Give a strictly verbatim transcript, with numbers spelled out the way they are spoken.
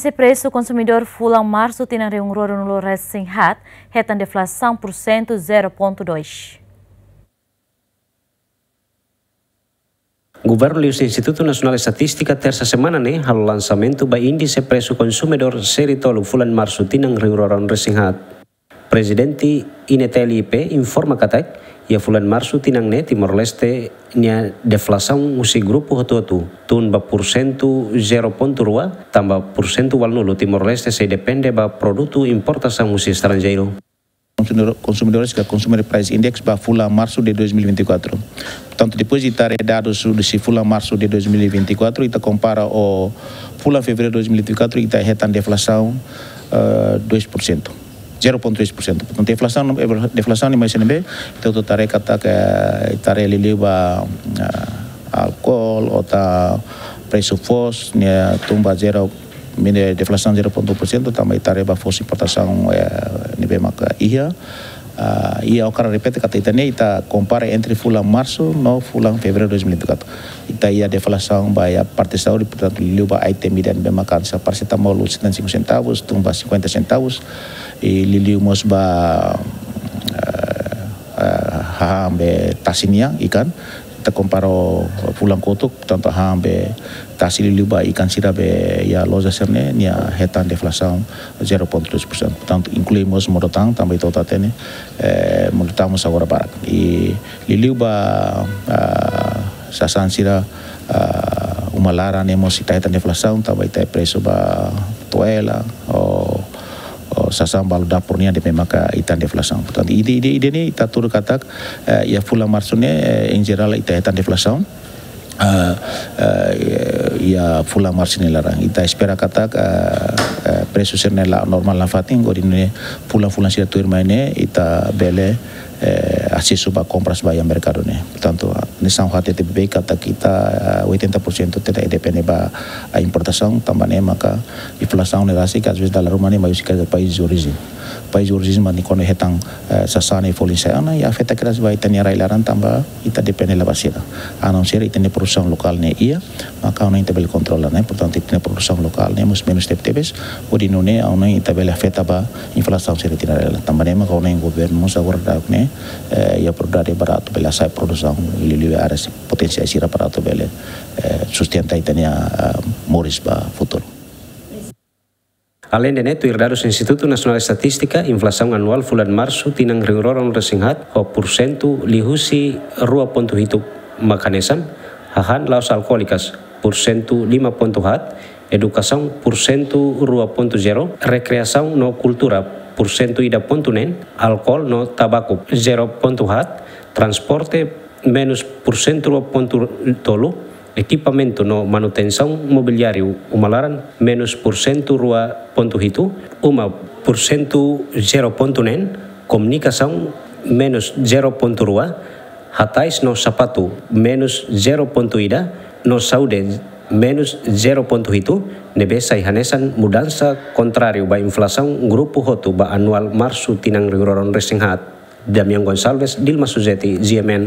Índice presu konsumidór fulan Marsu tinan rihun rua ruanulu resin haat hetan deflasaun pursentu zero pontu dois. Governu liuhusi Institutu Nasionál Estatístika tersa semana ne'e halo lansamentu ba índice presu konsumidór série tolu fulan Marsu tinan rihun rua ruanulu resin haat. Prezidente INETL-I P informa katak, iha fulan Marsu tinan ne'e Timor-Leste nia deflasaun husi grupu hotu-hotu tun ba pursentu zero pontu rua, tanba pursentu ualunulu Timor-Leste sei depende ba produtu importasaun husi estranjeiru. Consumidor-, consumidores que Consumer Price Index ba fulan Marsu de dois mil e vinte e quatro. Portantu, depois de ita haree dadus husi fulan Marsu de dois mil e vinte e quatro, ita kompara ho fulan Fevereiru dois mil e vinte e quatro, ita hetan deflasaun, eh, dois por cento. Zero ponto dois por cento. Portantu, deflasaun, deflasaun ne'e mai husi ne'ebé, ita atu haree katak, ita haree liuliu ba, ah, álkol, ou ita presu foos, ne'e tun ba zero, mine deflasaun zero ponto um por cento, tanba ita haree ba foos importasaun, eh, ne'ebé maka iha. Ah, i ha'u hakarak repete katak ita ne'e, ita kompara entre fulan Marsu no fulan Fevereiru dois mil e vinte e quatro. Ita iha deflasaun ba iha parte saúde, portantu, liuliu ba item ida ne'ebé maka hanesan parasetamol, setenta e cinco centavos, tun ba cinquenta centavos, i liuliu mós ba, eh, eh, hahán be tasi nian, ikan. Ita kompara ho fulan kotuk, portantu, hahán be tasi liuliu ba ikan sira be iha loja sira-ne'e, nia hetan deflasaun zero ponto dois por cento. Portantu, inklui mós modo-tahan, tanba ita hotu hatene, eh, modo-tahan mós agora barak. I liuliu ba, ah, sasán sira, ah, uma laran ne'e mós ita hetan deflasaun, tanba ita presu ba toalla, ou, ou sasán balu dapur nian ne'ebé maka ita hetan deflasaun. Portantu, ida, ida, ida-ne'e ita hatudu katak, eh, iha fulan Marsu ne'e, eh, em geral ita hetan deflasaun. Ah, ah, iha fulan Marsu nia laran. Ita espera katak, ah, ah, presu sira-ne'e la'o normál nafatin, hodi nune'e fulan-fulan sira tuirmai ne'e, ita bele, eh, asesu ba kompras ba iha merkadu ne'e. Portantu, ah, hanesan ha'u hatete beibeik katak ita, ah, oitenta por cento ita depende ba, ah, importasaun, tanba ne'e maka inflasaun ne'e rasik, às vezes dala ruma ne'e mai husi país de origem. País de origem mak nia kona hetan, eh, sasán ne'e folin sai ona, i afeta kedas ba ita-nia rai laran tanba ita depende hela ba sira. A não ser ita-nia produsaun lokál ne'e iha, maka ha'u hanoin ita bele kontrola, ne'e. Portantu, ita-nia produsaun lokál ne'e mós menus tebetebes, hodi nune'e ha'u hanoin ita bele afeta ba inflasaun sira iha ita-nia rai laran. Tanba ne'e maka ha'u hanoin governu mós agora daudaun ne'e, eh, iha prioridade ba atu bele hasa'e produsaun liuliu iha área potensiál sira para atu bele, eh, sustenta ita-nia, ah, moris ba futuru. Aleinde ne'e, tuir dadus Institutu Nasionál Estatístika, inflasaun anuál fulan Marsu tinan rihun rua ruanulu resin haat ho pursentu liuhusi rua pontu hitu mak hanesan: hahán la'ós alkoólikas, pursentu lima pontu haat; edukasaun, pursentu rua pontu zero; rekreasaun no kultura, pursentu ida pontu neen; álkol no tabaku, zero pontu haat; transporte, menus pursentu rua pontu tolu; ekipamentu no manutensaun mobiliáriu uma laran, menus pursentu rua pontu hitu; uma, pursentu zero pontu neen; komunikasaun, menus zero pontu rua; hatais no sapatu, menus zero pontu ida; no saúde, menus zero pontu hitu, ne'ebé sai hanesan mudansa kontráriu ba inflasaun grupu hotu ba anuál Marsu tinan rihun rua ruanulu resin haat. Damian Gonçalves, Dilma Suzeti, G M N,